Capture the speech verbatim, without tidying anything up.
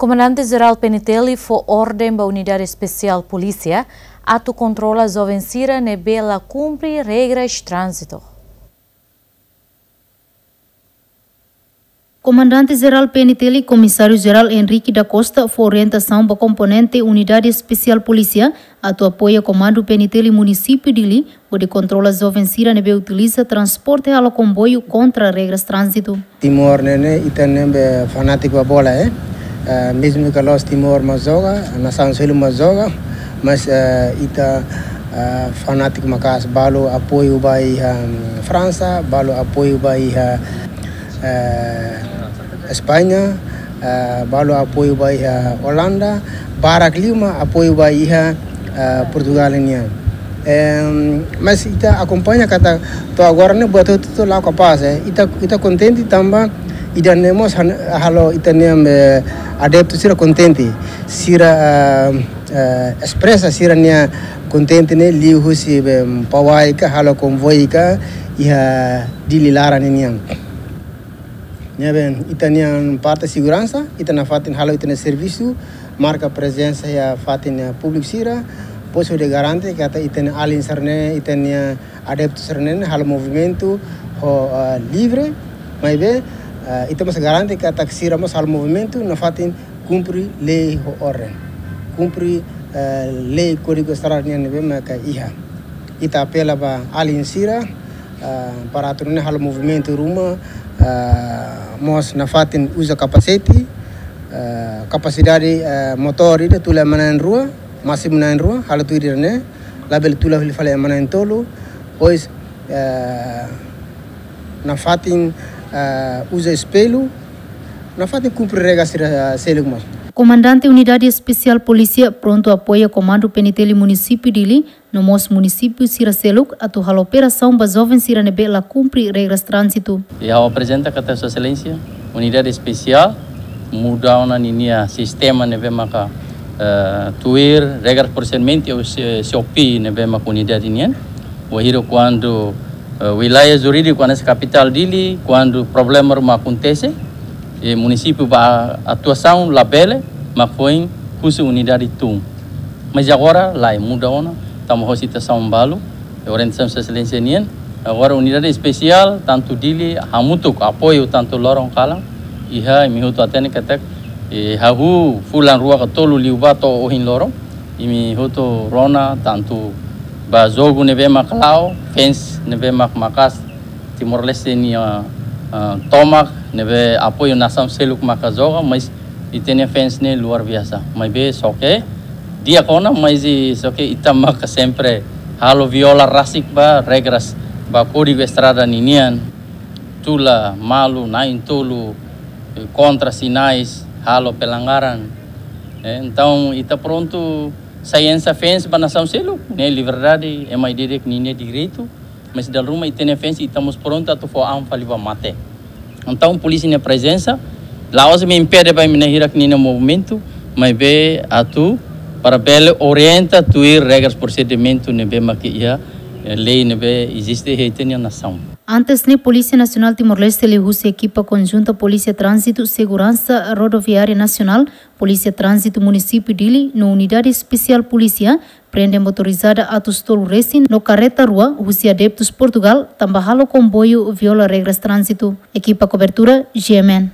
Komandante Jerál P N T L fó orden ba Unidade Espesiál Polísia atu kontrola joven sira ne'ebé la kumpre regras tránzitu. Komandante Jerál P N T L, Komisáriu Jerál Henrique da Costa, fó orientasaun ba komponente Unidade Espesiál Polísia atu apoia Komandu P N T L Munisípiu Dili, hodi kontrola joven sira ne'ebé utiliza transporte halo komboiu kontra regras tránzitu. Timor ne'e ne'e, ita ne'ebé fanátiku ba bola, eh. Eh, mezmu ke la'ós Timor mak joga, nasaun seluk mak joga, mas, eh, ita, eh, fanátiku maka'as, balu apoiu ba iha, mm, Fransa, balu apoiu ba iha, eh, España, eh, balu apoiu ba iha Olanda, barak liu mak apoiu ba iha, eh, Portugal nian. Em, mas ita akompaña katak to'o agora ne'e buat hotu-hotu la'o kapás, eh. Ita, ita kontente tanba ida-ne'e mós han-, halo ita-nia, eh, adeptu sira kontente. Sira, eh, eh, espresa sira-nia kontente ne'e liuhusi be pawai ka halo konvoi ka iha Dili laran ninian. Ne'ebé ita-nia parte seguransa, ita nafatin halo ita-nia servisu, marka prezensa iha fatin, eh, públiku sira, depois hodi garante katak ita-nia alin sira-ne'e, ita-nia adeptu sira-ne'e halo movimentu ho, eh, livre, maibé, eh, ita mós garante katak sira mós halo movimentu nafatin kumpre lei ho orden. Kumpre, eh, lei Kódigu Estrada nian ne'ebé maka iha. Ita apela ba alin sira, eh, para atu nune'e halo movimentu ruma, eh, mós nafatin uza kapasete, eh, kapasidade, eh, motór ida tula ema na'in-rua, másimu na'in-rua, halo tuir ida-ne'e, labele tula fali ema na'in-tolu, depois, eh, nafatin, eh, uza espellu, nafatin kumpre regra sira, eh, seluk mós. Komandante Unidade Espesiál Polísia prontu apoia Komandu P N T L Munisípiu Dili, no mós munisípiu sira seluk atu halo operasaun ba joven sira ne'ebé la kumpre regras tránzitu. I ha'u aprezenta katak Sua Exelénsia, Unidade Espesiál muda ona ninia sistema ne'ebé maka, eh, tuir regras prosedimentu ou S-, S O P ne'ebé maka unidade nian. Wainhira kuandu, eh, wilaia jurídiku hanesan kapitál Dili, kuandu problema ruma akontese, i munisípiu ba atuasaun labele, mak foin husu unidade tun. Mas agora lae, muda ona, tanba ho situasaun balu, orientasaun Sua Exelénsia nian. Agora unidade espesiál, tantu Dili, hamutuk apoiu tantu loron kalan, iha imi hotu hatene katak, eh, hahú fulan rua ka tolu liubá to'o ohin loron, imi hotu rona tantu ba jogu ne'ebé mak la'o, fans ne'ebé mak maka'as, Timor-Leste nia, ah, tomak, ne'ebé apoiu nasaun seluk maka joga, mas ita-nia fans ne'e luar biasa. Maibé só ke di'ak ona, mas i só ke ita maka sempre halo viola rasik ba regras, ba Kódigu Estrada ninian. Tula malu, na'in-tolu, eh, kontra sinais, halo pelanggaran. Eh, entaun, ita prontu sai hanesan fans ba nasaun seluk, ne'e liberdade, ema ida-idak ninia direitu, mas dala ruma ita-nia fans, ita mós prontu atu fó an fali ba mate. Entaun, polísia nia prezensa la'ós mak impede ba imi na'in-hirak ninia movimentu, maibé atu para bele orienta tuir regras prosedimentu ne'ebé maka iha, eh, lei ne'ebé eziste iha ita-nia nasaun. Antes ne'e, Polísia Nasionál Timor-Leste liuhusi ekipa konjunta Polísia Tránzitu Seguransa Rodoviária Nasionál, Polísia Tránzitu Munisípiu Dili no Unidade Espesiál Polísia prende motorizada Atus tolu resin no karreta rua husi adeptus Portugal tanba halo komboiu viola regras tránzitu. Ekipa kobertura, G M N.